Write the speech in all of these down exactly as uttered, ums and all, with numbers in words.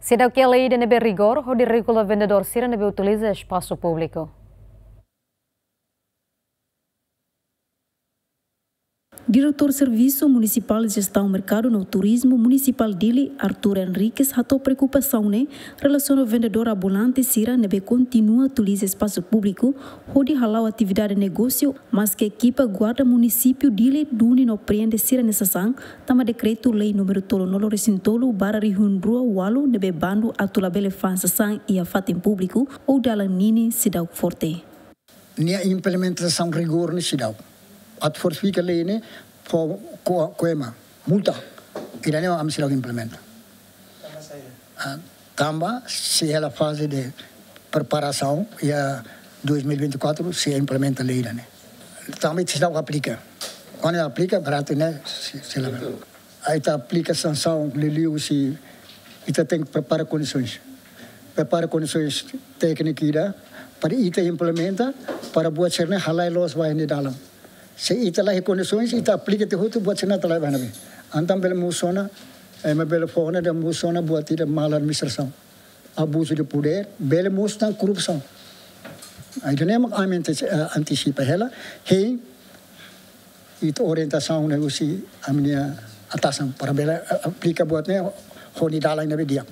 Seidauk iha lei ida ne'ebé rigór hodi regula vendedór sira ne'ebé utiliza espasu públiku. Diretór Servisu Munisipál Jestaun Merkadu no Turizmu Munisipál Dili, Artur Henriques, hato'o preokupasaun ne'e relasiona ho vendedór ambulante sira ne'ebé kontinua utiliza espasu públiku hodi hala'o atividade negósiu, maske ekipa guarda munisípiu Dili duni no prende sira-nia sasán, tanba dekretu-lei númeru tolunulu-resin-tolu barra rihun rua ualu ne'ebé bandu atu labele fa'an sasán iha fatin públiku ou dalan ninin seidauk forte. Nia implementasaun rigór ne'e seidauk. Atu fortifika lei ne'e, fó ko-, ko'ema, multa. Ida-ne'e ami seidauk implementa. Ah, tanba sei hela faze de preparasaun iha dois mil e vinte e quatro sei implementa lei ida-ne'e. Tanba seidauk aplika. Kuandu aplika, baratu ne'e sei, sei la. Ita aplika sansaun, liuliu se ita tenke prepara kondisoens. Prepara kondisoens tékniku ida para ita implementa, para buat sira-ne'e halai loos ba iha nia dalan. Se ita la iha kondisoens, ita aplika tiha hotu, buat sira-ne'e ita la iha ba iha ne'ebé. Entaun bele mosu ona, eh, ema bele fó ona dehan mosu ona buat ida mal administrasaun. Abuzu de podér, bele mosu tan korrupsaun. Ida-ne'e mak ami antis-, eh, antisipa hela, hein, ita orientasaun ne'e husi ami-nia atasan para bele, eh, aplika buat ne'e ho nia dalan ne'ebé di'ak.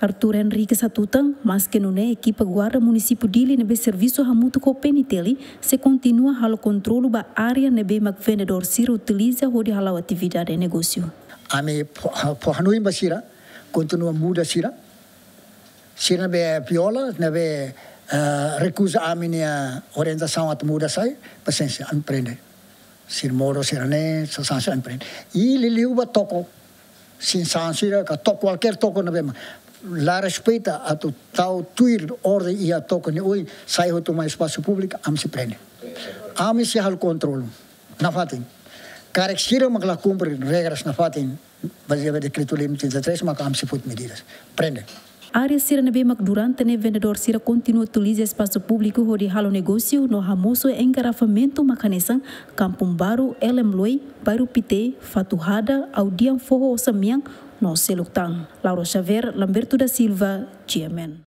Artur Henriques hatutan, maske nune'e ekipa guarda munisípiu Dili ne'ebé servisu hamutuk ho P N T L sei kontinua halo kontrolu ba área ne'ebé mak vendedór sira utiliza hodi hala'o atividade negósiu. Ami fó, fó hanoin ba sira, kontinua muda sira, sira ne'ebé viola, ne'ebé, eh, rekuza ami-nia orientasaun atu muda sai, pasiénsia, ami prende. Sira modo sira-ne'e, sasán sira ami prende. I liuliu ba toko, sasán sira ka toko, kualkér toko ne'ebé mak la respeita atu tau tuir orden iha toko nia oin, sai hotu mai espasu públiku, ami sei prende. Ami sei halo kontrolu nafatin. Karik sira mak la kumpre regras nafatin, bazeia ba dekretu-lei trinta e três, maka ami sei foti medidas. Prende. Área sira ne'ebé mak durante ne'e vendedór sira kontinua utiliza espasu públiku hodi halo negósiu no hamosu engarrafamentu mak hanesan Kampung Baru, L M Loi, Bairru Pité, Fatuhada, Audian Foho Osa Mean no seluk tan. Laura Xavier, Lamberto da Silva, G M N.